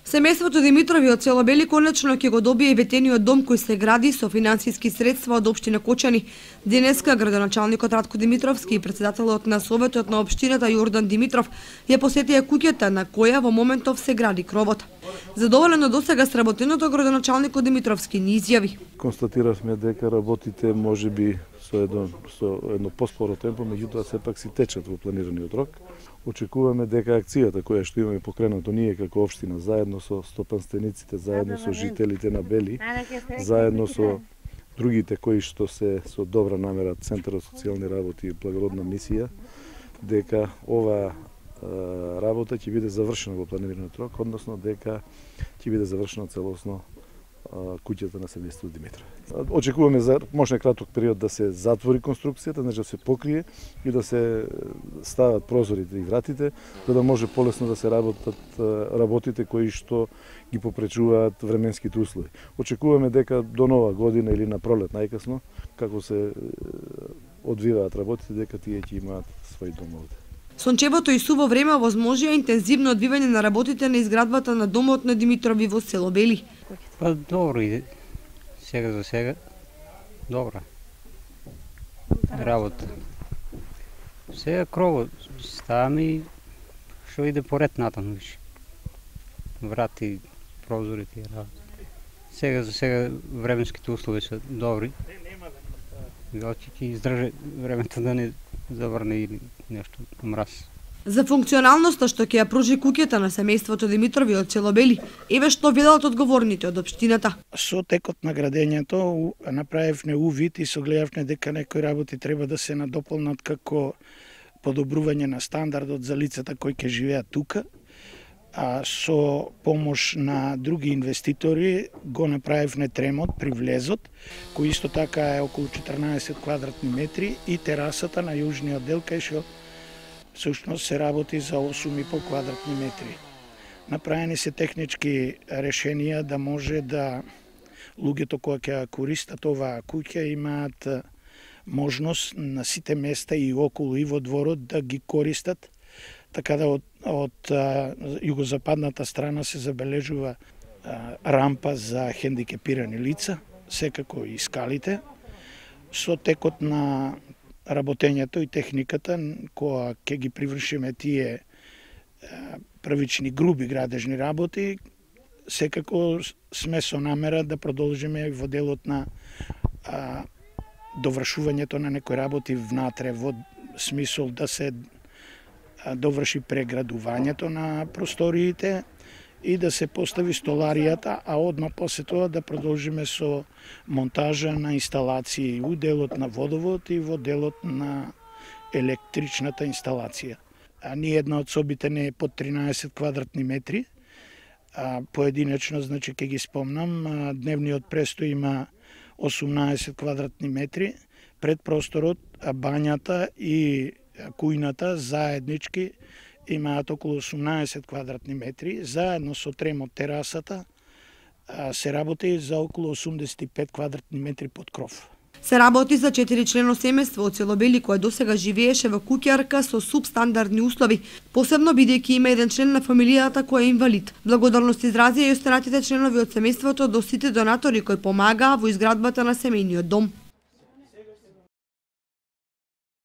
Семејството Димитрови од село Бели конечно ќе го добие ветениот дом кој се гради со финансиски средства од општина Кочани. Денеска градоначалникот Радко Димитровски и председателот на советот на општината Јордан Димитров ја посетија куќата на која во моментов се гради кровот. Задоволен од досега сработеното, градоначалникот Димитровски ни изјави: Констатиравме дека работите можеби со едно поспоро темпо, меѓутоа сепак си течат во планираниот рок. Очекуваме дека акцијата која што имаме покренато ние како општина, заедно со стопанствениците, заедно со жителите на Бели, заедно со другите кои што се со добра намера Центарот социјални работи и благородна мисија, дека ова работа ќе биде завршена во планираниот рок, односно дека ќе биде завршена целосно куќата на семејството Димитров. Очекуваме за можна краток период да се затвори конструкцијата, значи да се покрие и да се стават прозорите и вратите, за да може полесно да се работите кои што ги попречуваат временските услови. Очекуваме дека до нова година или на пролет најкасно, како се одвиваат работите, дека тие ќе имаат свој дом овде. Сончевото и суво време овозможија интензивно одвивање на работите на изградбата на домот на Димитрови во село Бели. Па добро иде. Сега за сега добра работа. Сега кровот ставаме и што иде поред натаму више. Врати, прозорите и работа. Сега за сега временските услови се добри. Очи ќе издржи времето да не заврне или нешто мраз. За функционалноста што ќе ја пружи куќата на семејството Димитрови од село Бели, еве што велат одговорните од општината. Со текот на градењето направивме увид и согледавме дека некои работи треба да се надополнат како подобрување на стандардот за лицата кои ќе живеат тука. А со помош на други инвеститори го направивме тремот при влезот, кој исто така е околу 14 квадратни метри, и терасата на јужниот дел кај што всушност се работи за 8,5 квадратни метри. Направени се технички решенија да може да луѓето кои ќе користат оваа куќа имаат можност на сите места и околу и во дворот да ги користат. Така да од југозападната страна се забележува рампа за хендикепирани лица, секако и скалите. Со текот на работењето и техниката, која ќе ги привршиме тие првични груби градежни работи, секако сме со намера да продолжиме во делот на довршувањето на некои работи внатре, во смисол да се доврши преградувањето на просториите и да се постави столаријата, а одма после тоа да продолжиме со монтажа на инсталации у делот на водовод и во делот на електричната инсталација. Ниедна од собите не е под 13 квадратни метри. Поединечно, значи, ќе ги спомнам, дневниот престој има 18 квадратни метри, предпросторот, бањата и кујната заеднички имаат околу 18 квадратни метри, заедно со тремот терасата се работи за околу 85 квадратни метри под кров. Се работи за 4-члено семејство од село Бели кое досега живееше во куќарка со субстандардни услови, посебно бидејќи има еден член на фамилијата кој е инвалид. Благодарност изразија и останатите членови од семејството до сите донатори кои помагаа во изградбата на семејниот дом.